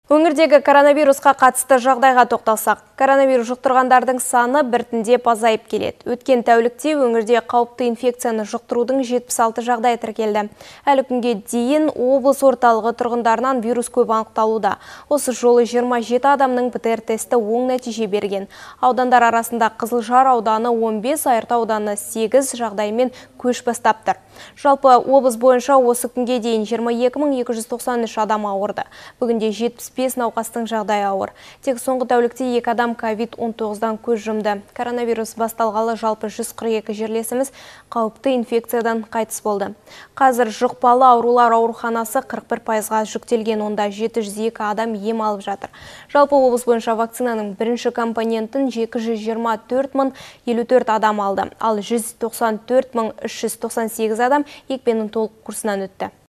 Өңірдегі коронавирусқа қатысты жағдайға тоқталсақ, коронавирус жұқтырғандардың саны біртіндеп азайып келеді. Өткен тәулікте өңірде қауіпті инфекцияны жұқтырудың 76 жағдайы тіркелді. Әлі күнге дейін облыс орталығы тұрғындарынан вирус көп анықталуда. Осы жолы 27 адамның ПЦР тесті оң нәтиже берген. Аудандар арасында Қызылжар ауданы 15, Айыртау ауданы 8 жағдаймен көш бастап тұр. Жалпы облыс бойынша осы күнге дейін 22.293 адам ауырды. Бүгінде 75 науқастың жағдайы ауыр. Тек соңғы тәулікте 2 адам COVID-19-дан көз жұмды. Коронавирус басталғалы жалпы 142 жерлесіміз қауіпті инфекциядан қайтыс болды. Қазір жұқпалы аурулар ауруханасы 41%-ға жүктелген, онда 702 адам ем алып жатыр. Жалпы облыс бойынша вакцинаның бірінші компонентін 224.054 адам алды, ал 194.398 адам екпенің толық курсынан өтті.